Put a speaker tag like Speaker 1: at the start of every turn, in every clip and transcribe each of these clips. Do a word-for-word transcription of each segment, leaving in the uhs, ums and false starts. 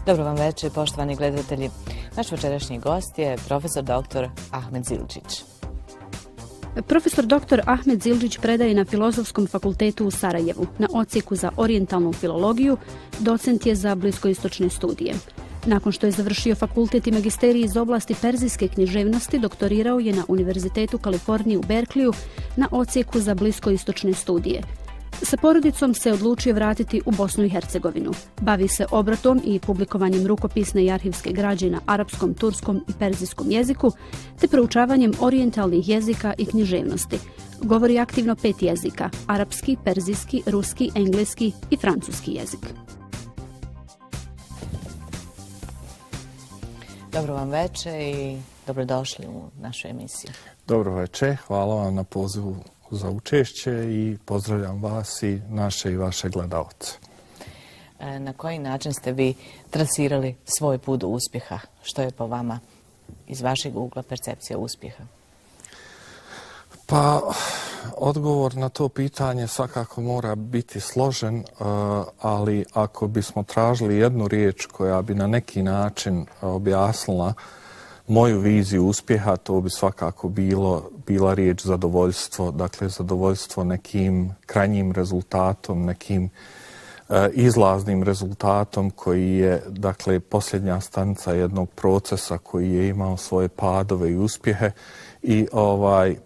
Speaker 1: Dobro vam večer, poštovani gledatelji. Naš večerašnji gost je profesor doktor Ahmed Zildžić.
Speaker 2: Profesor doktor Ahmed Zildžić predaje na Filozofskom fakultetu u Sarajevu, na odsjeku za orijentalnu filologiju, docent je za bliskoistočne studije. Nakon što je završio fakultet i magisterij iz oblasti perzijske književnosti, doktorirao je na Univerzitetu Kalifornije u Berkliju na odsjeku za bliskoistočne studije. Sa porodicom se odlučio vratiti u Bosnu i Hercegovinu. Bavi se obratom i publikovanjem rukopisne i arhivske građe na arapskom, turskom i perzijskom jeziku, te proučavanjem orijentalnih jezika i književnosti. Govori aktivno pet jezika: arapski, perzijski, ruski, engleski i francuski jezik.
Speaker 1: Dobro vam večer i dobrodošli u našu emisiju.
Speaker 3: Dobro večer, hvala vam na pozivu za učešće i pozdravljam vas i naše i vaše gledalce.
Speaker 1: Na koji način ste vi trasirali svoj put do uspjeha? Što je po vama iz vašeg ugla percepcija uspjeha?
Speaker 3: Pa, odgovor na to pitanje svakako mora biti složen, ali ako bismo tražili jednu riječ koja bi na neki način objasnila moju viziju uspjeha, to bi svakako bilo, bila riječ zadovoljstvo, dakle zadovoljstvo nekim krajnjim rezultatom, nekim e, izlaznim rezultatom koji je, dakle, posljednja stanica jednog procesa koji je imao svoje padove i uspjehe i ovaj e,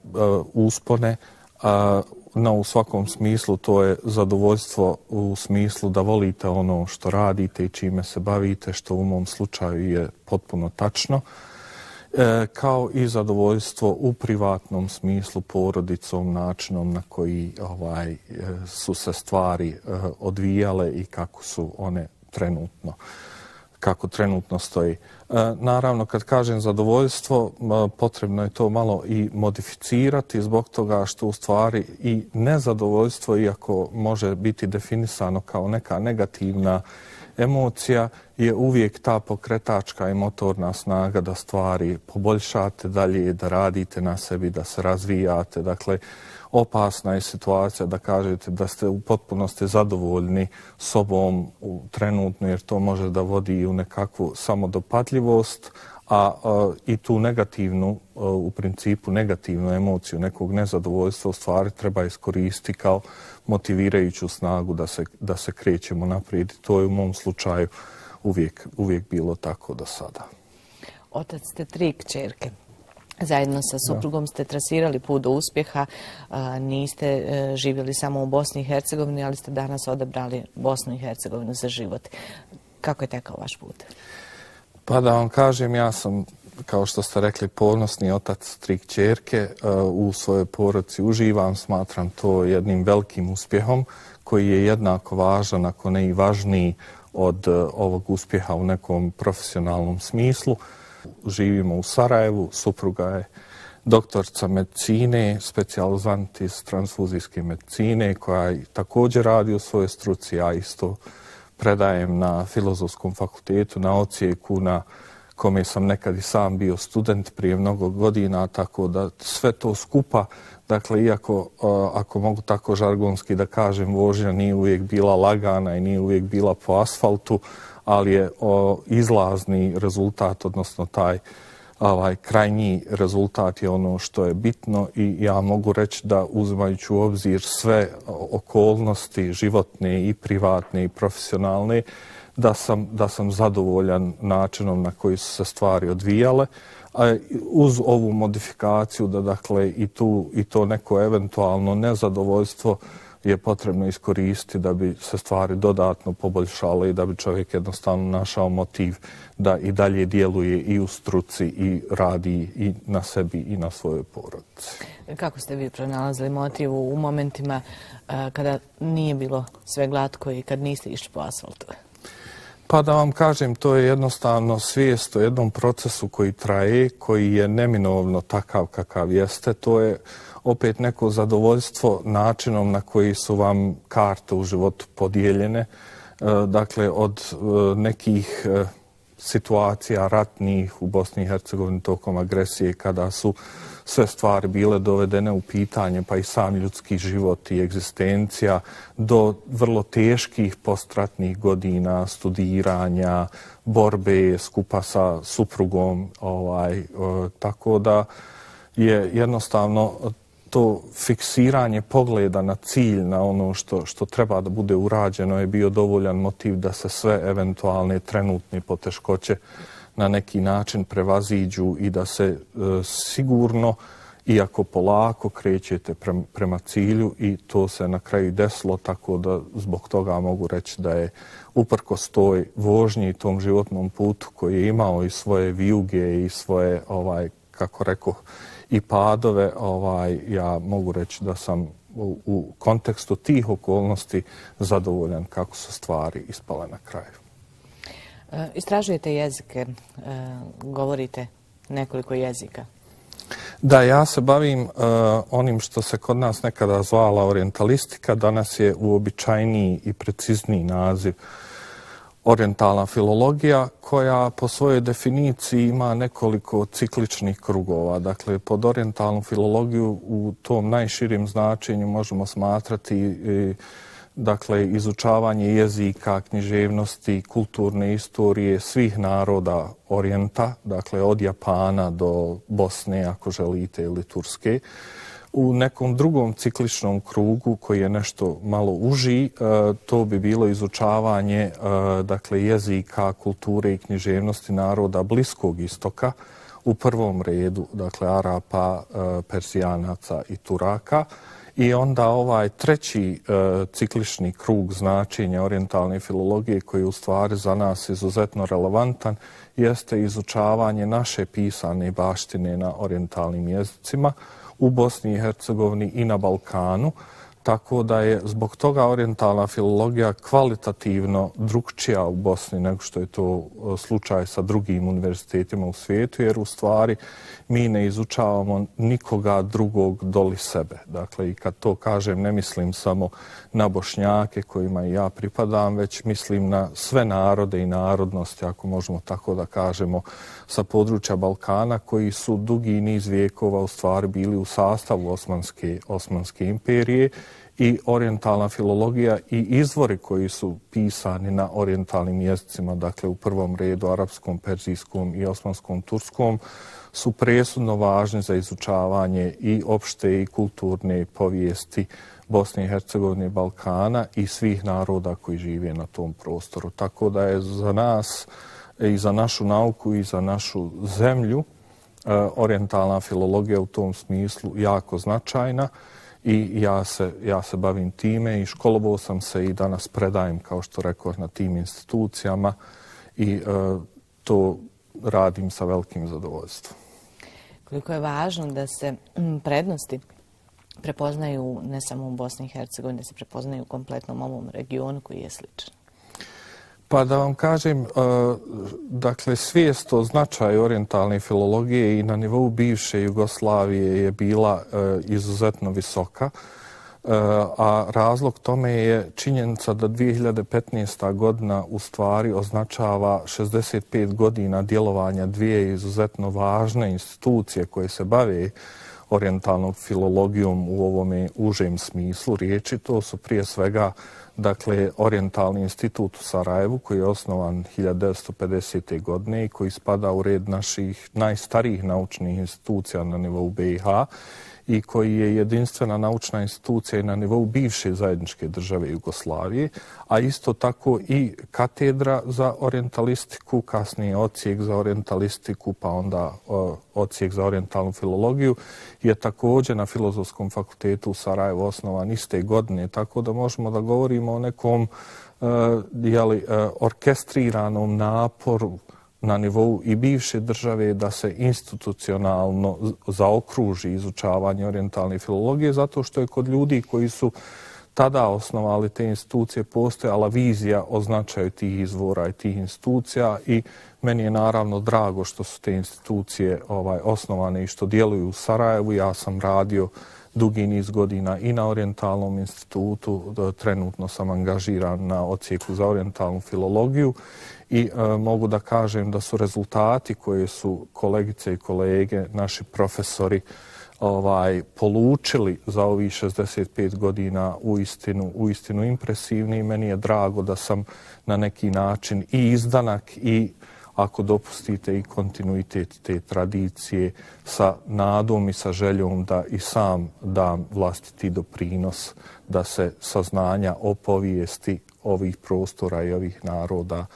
Speaker 3: uspone. A, no, u svakom smislu to je zadovoljstvo u smislu da volite ono što radite i čime se bavite, što u mom slučaju je potpuno tačno. E, kao i zadovoljstvo u privatnom smislu porodicom, načinom na koji ovaj, su se stvari e, odvijale i kako su one trenutno, kako trenutno stoji. E, naravno, kad kažem zadovoljstvo, e, potrebno je to malo i modificirati zbog toga što u stvari i nezadovoljstvo, iako može biti definisano kao neka negativna emocija, je uvijek ta pokretačka i motorna snaga da stvari poboljšate dalje, da radite na sebi, da se razvijate. Dakle, opasna je situacija da kažete da ste u potpunosti zadovoljni sobom u trenutno, jer to može da vodi u nekakvu samodopadljivost, a, a i tu negativnu, a, u principu negativnu emociju nekog nezadovoljstva u stvari treba iskoristiti kao motivirajuću snagu da se, da se krećemo naprijed. To je u mom slučaju uvijek, uvijek bilo tako do sada.
Speaker 1: Otac ste tri kćerke. Zajedno sa suprugom ste trasirali put do uspjeha. Niste živjeli samo u Bosni i Hercegovini, ali ste danas odabrali Bosnu i Hercegovinu za život. Kako je tekao vaš put?
Speaker 3: Pa da vam kažem, ja sam, kao što ste rekli, ponosni otac tri kćerke. U svojoj porodici uživam, smatram to jednim velikim uspjehom koji je jednako važan, ako ne i važniji od ovog uspjeha u nekom profesionalnom smislu. Živimo u Sarajevu, supruga je doktorca medicine, specijalizant iz transfuzijske medicine koja također radi u svojoj struci, ja isto predajem na Filozofskom fakultetu, na odsjeku na kome sam nekad i sam bio student prije mnogo godina, tako da sve to skupa, dakle, iako, ako mogu tako žargonski da kažem, vožnja nije uvijek bila lagana i nije uvijek bila po asfaltu, ali je o, izlazni rezultat, odnosno taj ovaj, krajnji rezultat je ono što je bitno i ja mogu reći da uzimajući u obzir sve okolnosti životne i privatne i profesionalne, da sam, da sam zadovoljan načinom na koji su se stvari odvijale, a uz ovu modifikaciju da, dakle, i, tu, i to neko eventualno nezadovoljstvo je potrebno iskoristiti da bi se stvari dodatno poboljšale i da bi čovjek jednostavno našao motiv da i dalje djeluje i u struci i radi i na sebi i na svojoj porodici.
Speaker 1: Kako ste vi pronalazili motiv u momentima uh, kada nije bilo sve glatko i kad niste išli po asfaltu?
Speaker 3: Pa da vam kažem, to je jednostavno svijest o jednom procesu koji traje, koji je neminovno takav kakav jeste. To je opet neko zadovoljstvo načinom na koji su vam karte u životu podijeljene. Dakle, od nekih situacija ratnih u Bosni i Hercegovini tokom agresije, kada su sve stvari bile dovedene u pitanje, pa i sam ljudski život i egzistencija, do vrlo teških postratnih godina studiranja, borbe skupa sa suprugom, ovaj, tako da je jednostavno to fiksiranje pogleda na cilj, na ono što, što treba da bude urađeno, je bio dovoljan motiv da se sve eventualne trenutne poteškoće na neki način prevaziđu i da se e, sigurno, iako polako, krećete prema, prema cilju, i to se na kraju desilo, tako da zbog toga mogu reći da je uprkos toj vožnji i tom životnom putu koji je imao i svoje vijuge i svoje, ovaj, kako rekao, i padove, ovaj, ja mogu reći da sam u, u kontekstu tih okolnosti zadovoljan kako su stvari ispale na kraju.
Speaker 1: Istražujete jezike, govorite nekoliko jezika.
Speaker 3: Da, ja se bavim uh, onim što se kod nas nekada zvala orijentalistika, danas je uobičajeniji i precizniji naziv orijentalna filologija, koja po svojoj definiciji ima nekoliko cikličnih krugova. Dakle, pod orijentalnu filologiju u tom najširim značenju možemo smatrati i, dakle, izučavanje jezika, književnosti, kulturne istorije svih naroda Orijenta, dakle od Japana do Bosne, ako želite, ili Turske. U nekom drugom cikličnom krugu, koji je nešto malo uži, to bi bilo izučavanje, dakle, jezika, kulture i književnosti naroda Bliskog istoka, u prvom redu, dakle, Arapa, Persijanaca i Turaka. I onda ovaj treći e, ciklični krug značenja orijentalne filologije, koji je u stvari za nas izuzetno relevantan, jeste izučavanje naše pisane baštine na orijentalnim jezicima u Bosni i Hercegovini i na Balkanu. Tako da je zbog toga orijentalna filologija kvalitativno drukčija u Bosni nego što je to slučaj sa drugim univerzitetima u svijetu, jer u stvari mi ne izučavamo nikoga drugog doli sebe. Dakle, i kad to kažem, ne mislim samo na Bošnjake kojima i ja pripadam, već mislim na sve narode i narodnosti, ako možemo tako da kažemo, sa područja Balkana, koji su dugi niz vijekova u stvari bili u sastavu Osmanske, Osmanske imperije, i orijentalna filologija i izvori koji su pisani na orijentalnim jezicima, dakle u prvom redu arapskom, perzijskom i osmanskom turskom, su presudno važni za izučavanje i opšte i kulturne povijesti Bosne i Hercegovine i Balkana i svih naroda koji žive na tom prostoru. Tako da je za nas i za našu nauku i za našu zemlju orijentalna filologija u tom smislu jako značajna. I ja se, ja se bavim time i školovao sam se i danas predajem, kao što rekao, na tim institucijama, i e, to radim sa velikim zadovoljstvom.
Speaker 1: Koliko je važno da se prednosti prepoznaju ne samo u Bosni i Hercegovini, da se prepoznaju u kompletnom ovom regionu koji je sličan?
Speaker 3: Pa da vam kažem, dakle, svijest o značaju orijentalne filologije i na nivou bivše Jugoslavije je bila izuzetno visoka, a razlog tome je činjenica da dvije hiljade petnaesta. godina u stvari označava šezdeset pet godina djelovanja dvije izuzetno važne institucije koje se bave orijentalnom filologijom u ovome užem smislu riječi. To su prije svega, dakle, Orijentalni institut u Sarajevu, koji je osnovan hiljadu devetsto pedesete. godine i koji spada u red naših najstarijih naučnih institucija na nivou B i H, i koji je jedinstvena naučna institucija na nivou bivše zajedničke države Jugoslavije, a isto tako i katedra za orijentalistiku, kasnije odsjek za orijentalistiku, pa onda odsjek za orijentalnu filologiju, je također na Filozofskom fakultetu u Sarajevu osnovan iste godine, tako da možemo da govorimo o nekom uh, jeli, uh, orkestriranom naporu na nivou i bivše države da se institucionalno zaokruži izučavanje orijentalne filologije, zato što je kod ljudi koji su tada osnovali te institucije postojala vizija o značaju tih izvora i tih institucija, i meni je naravno drago što su te institucije ovaj, osnovane i što djeluju u Sarajevu. Ja sam radio dugi niz godina i na Orijentalnom institutu, trenutno sam angažiran na odsjeku za orijentalnu filologiju i e, mogu da kažem da su rezultati koje su kolegice i kolege, naši profesori, ovaj polučili za ovih šezdeset pet godina uistinu, uistinu impresivni i meni je drago da sam na neki način i izdanak i, ako dopustite, i kontinuitet te tradicije sa nadom i sa željom da i sam dam vlastiti doprinos da se saznanja o povijesti ovih prostora i ovih naroda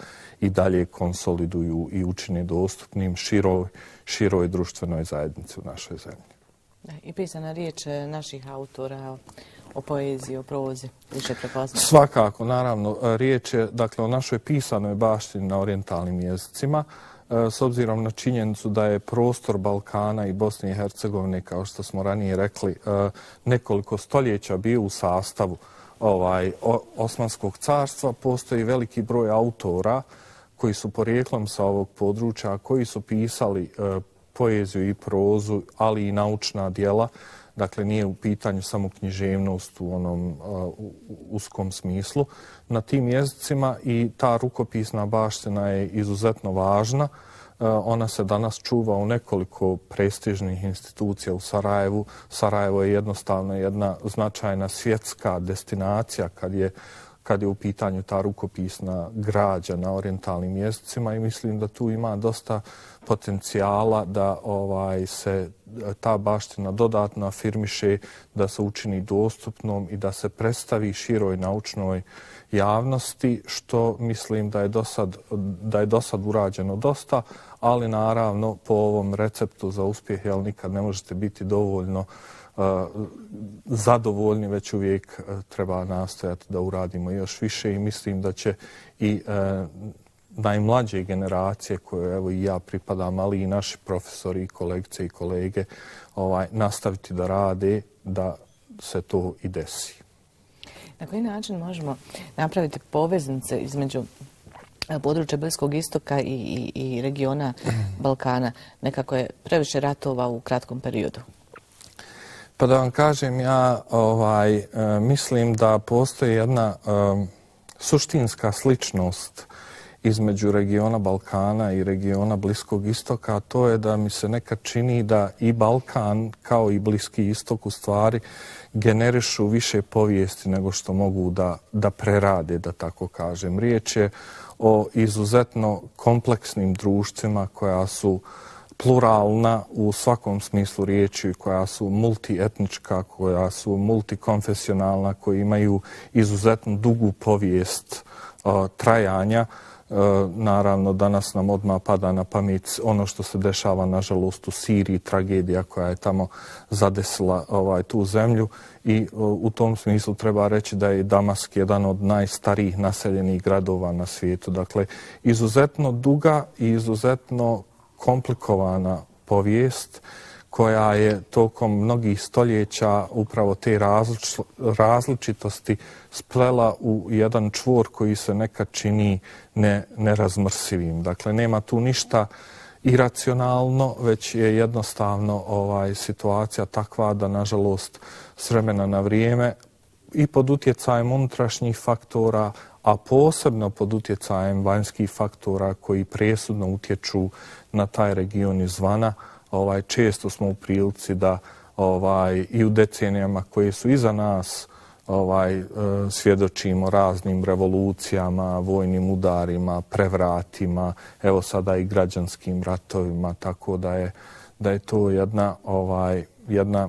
Speaker 3: i dalje konsoliduju i učine dostupnim široj, široj društvenoj zajednici u našoj zemlji.
Speaker 1: I pisana riječ naših autora o poeziji, o prozi, više prepoznati?
Speaker 3: Svakako, naravno. Riječ je dakle, o našoj pisanoj baštini na orijentalnim jezicima, s obzirom na činjenicu da je prostor Balkana i Bosne i Hercegovine, kao što smo ranije rekli, nekoliko stoljeća bio u sastavu ovaj, Osmanskog carstva. Postoji veliki broj autora koji su porijeklom sa ovog područja, koji su pisali poeziju i prozu, ali i naučna djela. Dakle, nije u pitanju samo književnost u onom uh, uskom smislu. Na tim jezicima i ta rukopisna baština je izuzetno važna. Uh, ona se danas čuva u nekoliko prestižnih institucija u Sarajevu. Sarajevo je jednostavno jedna značajna svjetska destinacija kad je kad je u pitanju ta rukopisna građa na orijentalnim jezicima i mislim da tu ima dosta potencijala da ovaj se ta baština dodatno afirmiše, da se učini dostupnom i da se predstavi široj naučnoj javnosti, što mislim da je dosad, da je dosad urađeno dosta, ali naravno po ovom receptu za uspjeh jel nikad ne možete biti dovoljno Uh, zadovoljni, već uvijek uh, treba nastojati da uradimo još više i mislim da će i uh, najmlađe generacije koje evo i ja pripadam, ali i naši profesori i kolegice i kolege ovaj, nastaviti da rade da se to i desi.
Speaker 1: Na koji način možemo napraviti poveznice između područja Bliskog istoka i, i, i regiona Balkana? Nekako je previše ratova u kratkom periodu.
Speaker 3: Pa da vam kažem, ja ovaj, e, mislim da postoji jedna e, suštinska sličnost između regiona Balkana i regiona Bliskog istoka, a to je da mi se nekad čini da i Balkan kao i Bliski istok u stvari generišu više povijesti nego što mogu da, da prerade, da tako kažem. Riječ je o izuzetno kompleksnim društvima koja su pluralna u svakom smislu riječi, koja su multietnička, koja su multikonfesionalna, koji imaju izuzetno dugu povijest uh, trajanja. Uh, naravno, danas nam odmah pada na pamet ono što se dešava, nažalost, u Siriji, tragedija koja je tamo zadesila ovaj, tu zemlju i uh, u tom smislu treba reći da je Damask jedan od najstarijih naseljenih gradova na svijetu. Dakle, izuzetno duga i izuzetno komplikovana povijest koja je tokom mnogih stoljeća upravo te različ, različitosti splela u jedan čvor koji se nekad čini ne, nerazmrsivim. Dakle, nema tu ništa iracionalno, već je jednostavno ovaj, situacija takva da, nažalost, s vremena na vrijeme i pod utjecajem unutrašnjih faktora, a posebno pod utjecajem vanjskih faktora koji presudno utječu na taj region izvana, ovaj, često smo u prilici da ovaj, i u decenijama koje su iza nas ovaj, e, svjedočimo raznim revolucijama, vojnim udarima, prevratima, evo sada i građanskim ratovima, tako da je, da je to jedna, ovaj, jedna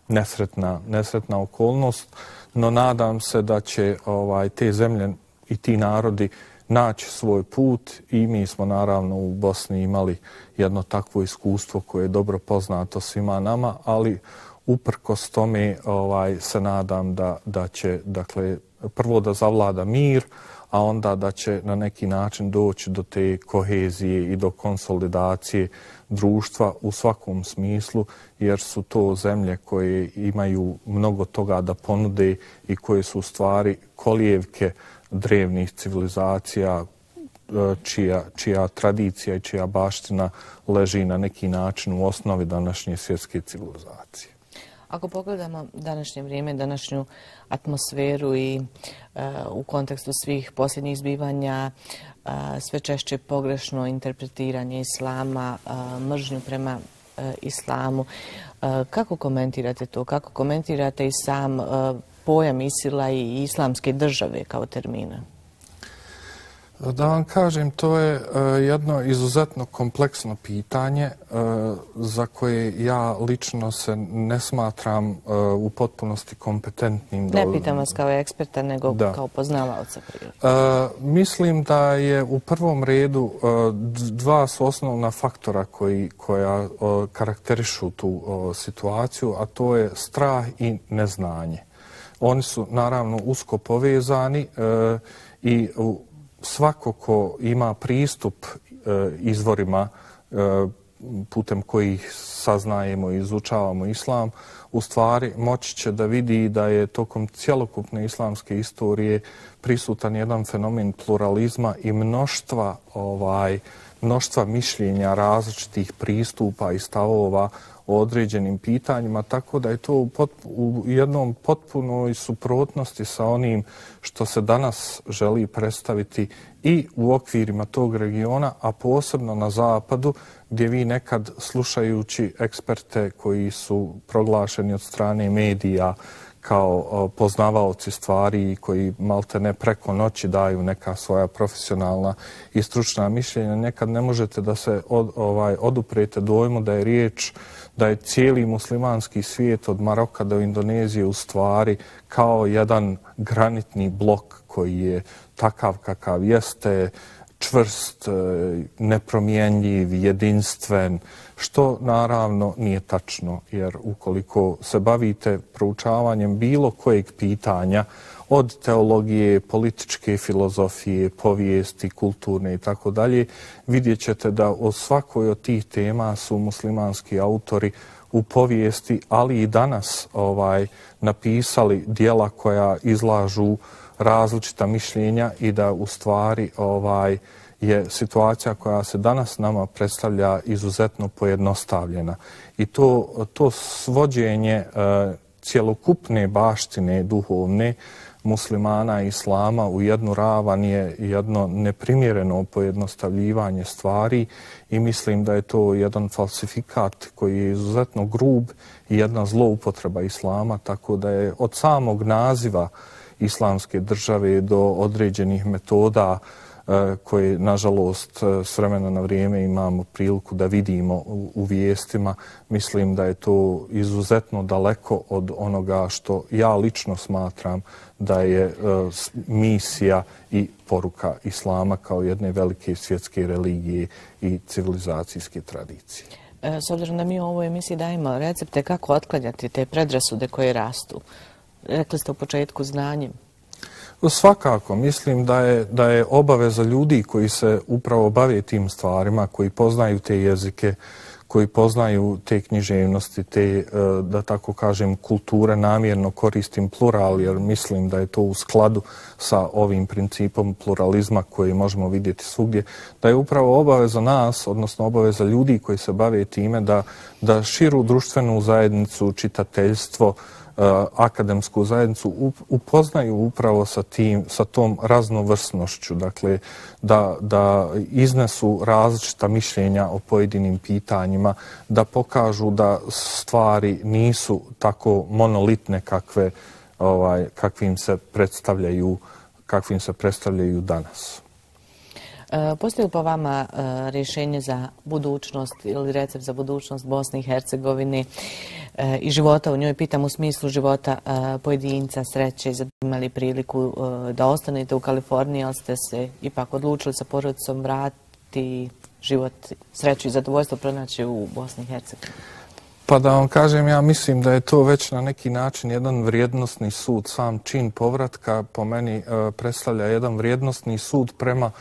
Speaker 3: nesretna, nesretna okolnost, no nadam se da će ovaj, te zemlje i ti narodi naći svoj put i mi smo naravno u Bosni imali jedno takvo iskustvo koje je dobro poznato svima nama, ali uprkos tome ovaj, se nadam da, da će, dakle, prvo da zavlada mir, a onda da će na neki način doći do te kohezije i do konsolidacije društva u svakom smislu, jer su to zemlje koje imaju mnogo toga da ponude i koje su u stvari kolijevke drevnih civilizacija čija, čija tradicija i čija baština leži na neki način u osnovi današnje svjetske civilizacije.
Speaker 1: Ako pogledamo današnje vrijeme, današnju atmosferu i uh, u kontekstu svih posljednjih zbivanja, uh, sve češće pogrešno interpretiranje islama, uh, mržnju prema uh, islamu, uh, kako komentirate to? Kako komentirate i sam uh, pojam Isila i islamske države kao termina?
Speaker 3: Da vam kažem, to je jedno izuzetno kompleksno pitanje za koje ja lično se ne smatram u potpunosti kompetentnim.
Speaker 1: Ne pitam vas kao eksperta, nego da. Kao poznavaoca.
Speaker 3: Mislim da je u prvom redu dva su osnovna faktora koji, koja karakterišu tu situaciju, a to je strah i neznanje. Oni su naravno usko povezani i svako ko ima pristup e, izvorima e, putem kojih saznajemo i izučavamo islam, u stvari moći će da vidi da je tokom cjelokupne islamske istorije prisutan jedan fenomen pluralizma i mnoštva, ovaj, mnoštva mišljenja, različitih pristupa i stavova o određenim pitanjima, tako da je to u, potpu, u jednom potpunoj suprotnosti sa onim što se danas želi predstaviti i u okvirima tog regiona, a posebno na zapadu, gdje vi nekad slušajući eksperte koji su proglašeni od strane medija kao poznavaoci stvari i koji malte ne preko noći daju neka svoja profesionalna i stručna mišljenja, nekad ne možete da se od, ovaj, oduprete dojmu da je riječ da je cijeli muslimanski svijet od Maroka do Indonezije u stvari kao jedan granitni blok koji je takav kakav jeste, čvrst, nepromjenjiv, jedinstven, što naravno nije tačno, jer ukoliko se bavite proučavanjem bilo kojeg pitanja, od teologije, političke filozofije, povijesti, kulturne i tako dalje, vidjet ćete da o svakoj od tih tema su muslimanski autori u povijesti, ali i danas ovaj, napisali dijela koja izlažu različita mišljenja i da u stvari ovaj, je situacija koja se danas nama predstavlja izuzetno pojednostavljena. I to, to svođenje e, cjelokupne baštine duhovne muslimana i islama u jednu ravan je jedno neprimjereno pojednostavljivanje stvari i mislim da je to jedan falsifikat koji je izuzetno grub i jedna zloupotreba islama, tako da je od samog naziva islamske države do određenih metoda koje, nažalost, s vremena na vrijeme imamo priliku da vidimo u, u vijestima. Mislim da je to izuzetno daleko od onoga što ja lično smatram da je uh, misija i poruka islama kao jedne velike svjetske religije i civilizacijske tradicije.
Speaker 1: S obzirom da mi u ovoj emisiji dajemo recepte kako otklanjati te predrasude koje rastu, rekli ste u početku znanjem.
Speaker 3: Svakako, mislim da je, da je obaveza ljudi koji se upravo bave tim stvarima, koji poznaju te jezike, koji poznaju te književnosti, te, da tako kažem, kulture, namjerno koristim plural, jer mislim da je to u skladu sa ovim principom pluralizma koji možemo vidjeti svugdje, da je upravo obaveza nas, odnosno obaveza ljudi koji se bave time, da, da širu društvenu zajednicu, čitateljstvo, akademsku zajednicu upoznaju upravo sa tim, sa tom raznovrsnošću, dakle da, da iznesu različita mišljenja o pojedinim pitanjima, da pokažu da stvari nisu tako monolitne kakve, ovaj, kakvim se predstavljaju, kakvim se predstavljaju danas.
Speaker 1: Postoji li po vama rješenje za budućnost ili recept za budućnost Bosne i Hercegovine i života u njoj? Pitam u smislu života pojedinca, sreće, imali priliku da ostanete u Kaliforniji, ali ste se ipak odlučili sa porodicom vratiti život, sreću i zadovoljstvo pronaći u Bosni i Hercegovini.
Speaker 3: Pa da vam kažem, ja mislim da je to već na neki način jedan vrijednosni sud. Sam čin povratka po meni predstavlja jedan vrijednosni sud prema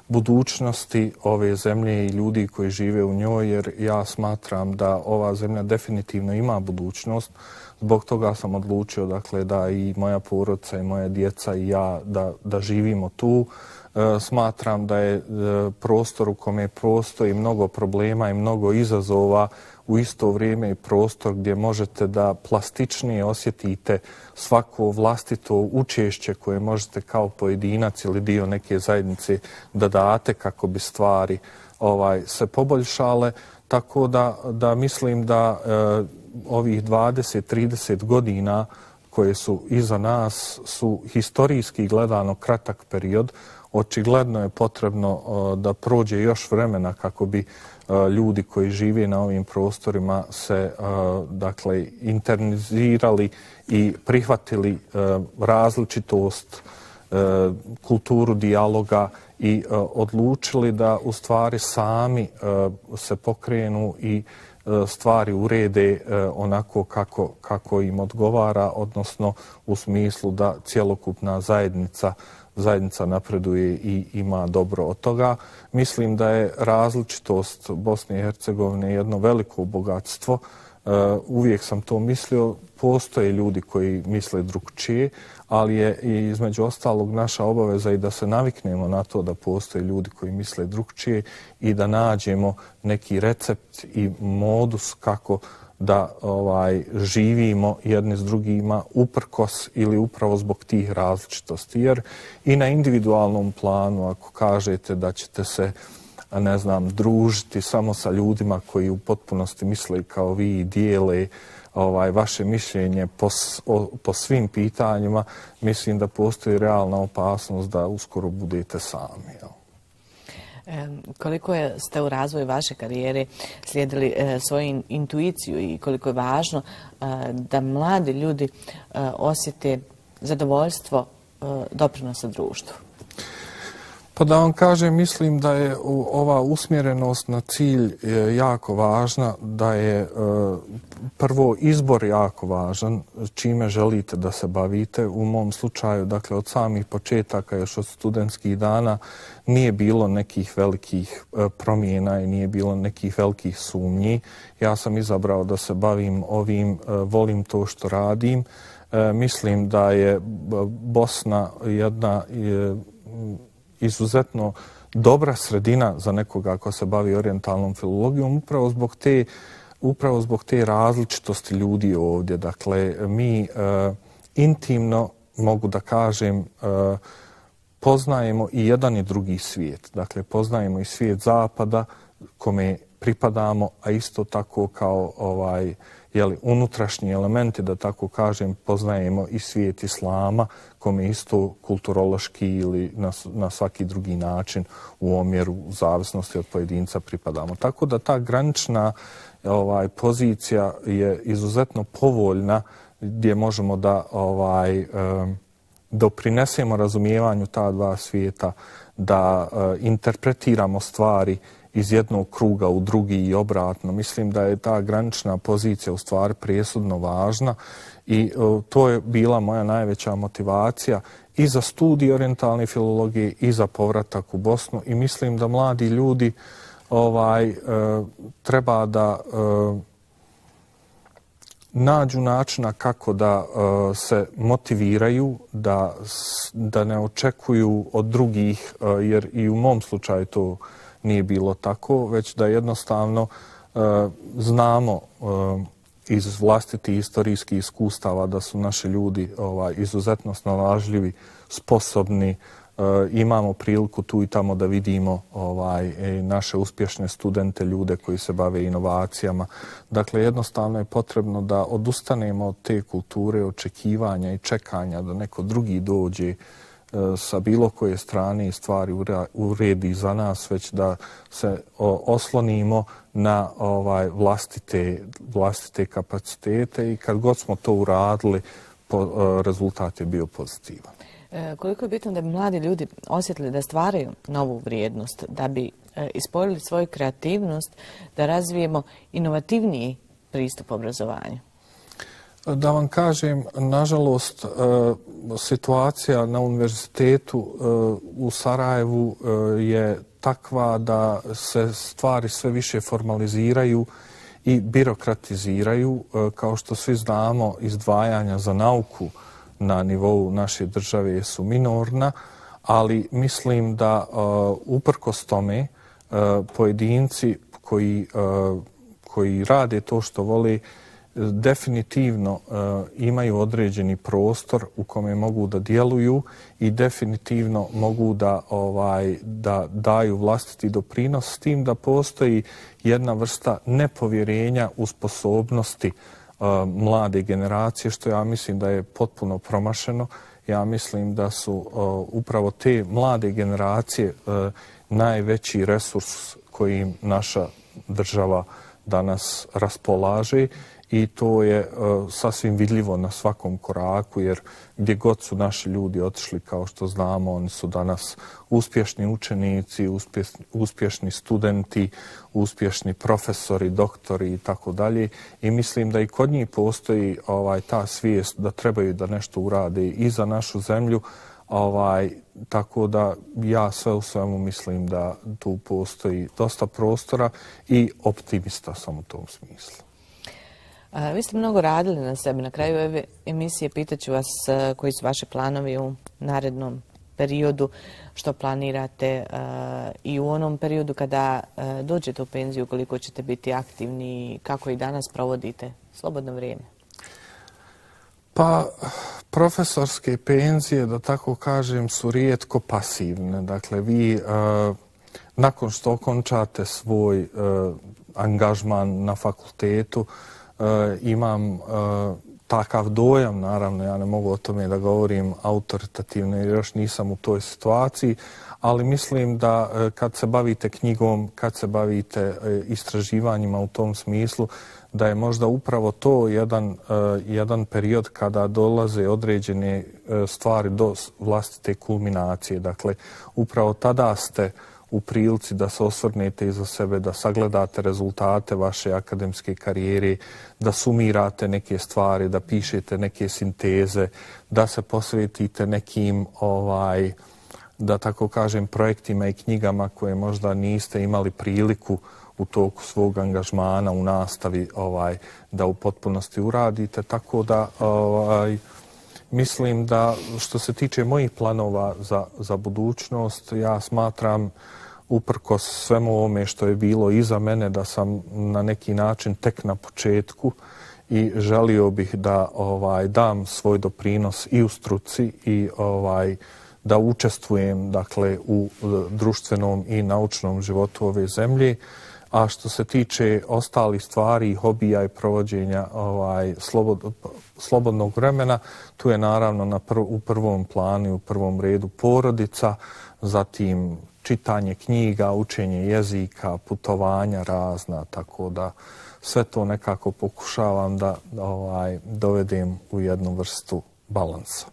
Speaker 3: budućnosti ove zemlje i ljudi koji žive u njoj, jer ja smatram da ova zemlja definitivno ima budućnost. Zbog toga sam odlučio, dakle, da i moja porodica i moja djeca i ja da, da živimo tu. E, smatram da je e, prostor u kome postoji mnogo problema i mnogo izazova u isto vrijeme i prostor gdje možete da plastičnije osjetite svako vlastito učešće koje možete kao pojedinac ili dio neke zajednice da date kako bi stvari ovaj, se poboljšale. Tako da, da mislim da e, ovih dvadeset trideset godina koje su iza nas su historijski gledano kratak period. Očigledno je potrebno uh, da prođe još vremena kako bi uh, ljudi koji žive na ovim prostorima se uh, dakle internizirali i prihvatili uh, različitost, uh, kulturu dijaloga i uh, odlučili da u stvari sami uh, se pokrenu i uh, stvari urede uh, onako kako, kako im odgovara, odnosno u smislu da cjelokupna zajednica zajednica napreduje i ima dobro od toga. Mislim da je različitost Bosne i Hercegovine jedno veliko bogatstvo. Uvijek sam to mislio, postoje ljudi koji misle drugčije, ali je između ostalog naša obaveza i da se naviknemo na to da postoje ljudi koji misle drugčije i da nađemo neki recept i modus kako da ovaj živimo jedni s drugima uprkos ili upravo zbog tih različitosti. Jer i na individualnom planu, ako kažete da ćete se, ne znam, družiti samo sa ljudima koji u potpunosti misle kao vi i dijele ovaj, vaše mišljenje po, o, po svim pitanjima, mislim da postoji realna opasnost da uskoro budete sami. Jel?
Speaker 1: Koliko je, ste u razvoju vaše karijere slijedili e, svoju intuiciju i koliko je važno e, da mladi ljudi e, osjete zadovoljstvo e, doprinosa društvu?
Speaker 3: Pa da vam kažem, mislim da je ova usmjerenost na cilj jako važna, da je prvo izbor jako važan, čime želite da se bavite. U mom slučaju, dakle, od samih početaka, još od studentskih dana, nije bilo nekih velikih promjena i nije bilo nekih velikih sumnji. Ja sam izabrao da se bavim ovim, volim to što radim. Mislim da je Bosna jedna izuzetno dobra sredina za nekoga ko se bavi orijentalnom filologijom, upravo zbog te, upravo zbog te različitosti ljudi ovdje. Dakle, mi e, intimno, mogu da kažem, e, poznajemo i jedan i drugi svijet. Dakle, poznajemo i svijet zapada kome pripadamo, a isto tako kao ovaj, jeli, unutrašnji elementi, da tako kažem, poznajemo i svijet islama, kome isto kulturološki ili na, na svaki drugi način u omjeru u zavisnosti od pojedinca pripadamo. Tako da ta granična ovaj, pozicija je izuzetno povoljna gdje možemo da ovaj, eh, doprinesemo razumijevanju ta dva svijeta, da eh, interpretiramo stvari iz jednog kruga u drugi i obratno. Mislim da je ta granična pozicija u stvari presudno važna i uh, to je bila moja najveća motivacija i za studij orijentalne filologije i za povratak u Bosnu i mislim da mladi ljudi ovaj uh, treba da uh, nađu načina kako da uh, se motiviraju, da, da ne očekuju od drugih, uh, jer i u mom slučaju to nije bilo tako, već da jednostavno uh, znamo uh, iz vlastitih historijskih iskustava da su naši ljudi ovaj, izuzetno snalažljivi, sposobni, uh, imamo priliku tu i tamo da vidimo ovaj, naše uspješne studente, ljude koji se bave inovacijama. Dakle, jednostavno je potrebno da odustanemo od te kulture očekivanja i čekanja da neko drugi dođe sa bilo koje strane i stvari uredi za nas, već da se oslonimo na ovaj vlastite, vlastite kapacitete i kad god smo to uradili, rezultat je bio pozitivan.
Speaker 1: E, koliko je bitno da bi mladi ljudi osjetili da stvaraju novu vrijednost, da bi e, ispojili svoju kreativnost, da razvijemo inovativniji pristup obrazovanju?
Speaker 3: Da vam kažem, nažalost, situacija na univerzitetu u Sarajevu je takva da se stvari sve više formaliziraju i birokratiziraju. Kao što svi znamo, izdvajanja za nauku na nivou naše države su minorna, ali mislim da uprkos tome pojedinci koji koji rade to što vole definitivno uh, imaju određeni prostor u kome mogu da djeluju i definitivno mogu da, ovaj, da daju vlastiti doprinos, s tim da postoji jedna vrsta nepovjerenja u sposobnosti uh, mlade generacije, što ja mislim da je potpuno promašeno. Ja mislim da su uh, upravo te mlade generacije uh, najveći resurs kojim naša država danas raspolaže i to je uh, sasvim vidljivo na svakom koraku, jer gdje god su naši ljudi otišli, kao što znamo, oni su danas uspješni učenici, uspješni, uspješni studenti, uspješni profesori, doktori i tako dalje. I mislim da i kod njih postoji ovaj, ta svijest da trebaju da nešto urade i za našu zemlju. Ovaj, tako da ja sve u svemu mislim da tu postoji dosta prostora i optimista sam u tom smislu.
Speaker 1: A, vi ste mnogo radili na sebi. Na kraju ove emisije pitaću vas a, koji su vaši planovi u narednom periodu, što planirate a, i u onom periodu kada a, dođete u penziju, koliko ćete biti aktivni, kako i danas provodite slobodno vrijeme.
Speaker 3: Pa, profesorske penzije, da tako kažem, su rijetko pasivne. Dakle, vi uh, nakon što okončate svoj uh, angažman na fakultetu, uh, imam uh, takav dojam, naravno, ja ne mogu o tome da govorim autoritativno jer još nisam u toj situaciji, ali mislim da uh, kad se bavite knjigom, kad se bavite uh, istraživanjima u tom smislu, da je možda upravo to jedan, uh, jedan period kada dolaze određene uh, stvari do vlastite kulminacije. Dakle, upravo tada ste u prilici da se osvrnete iza sebe, da sagledate rezultate vaše akademske karijere, da sumirate neke stvari, da pišete neke sinteze, da se posvetite nekim, ovaj, da tako kažem, projektima i knjigama koje možda niste imali priliku u toku svog angažmana u nastavi ovaj, da u potpunosti uradite. Tako da ovaj, mislim da što se tiče mojih planova za, za budućnost, ja smatram uprkos svemu ovome što je bilo iza mene da sam na neki način tek na početku i želio bih da ovaj, dam svoj doprinos i u struci i ovaj, da učestvujem dakle, u društvenom i naučnom životu ove zemlje. A što se tiče ostalih stvari, hobija i provođenja ovaj, slobod, slobodnog vremena, tu je naravno na prv, u prvom planu i u prvom redu porodica, zatim čitanje knjiga, učenje jezika, putovanja razna, tako da sve to nekako pokušavam da ovaj, dovedem u jednu vrstu balansa.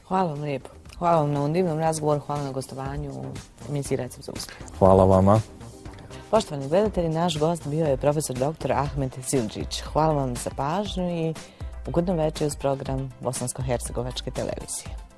Speaker 1: Hvala vam lijepo. Hvala vam na ovom divnom razgovoru, hvala na gostovanju u emisiji Recept za uspjeh.
Speaker 3: Hvala vama.
Speaker 1: Poštovani gledatelji, naš gost bio je profesor doktor Ahmed Zildžić. Hvala vam za pažnju i ugodno večer uz program Bosansko-hercegovačke televizije.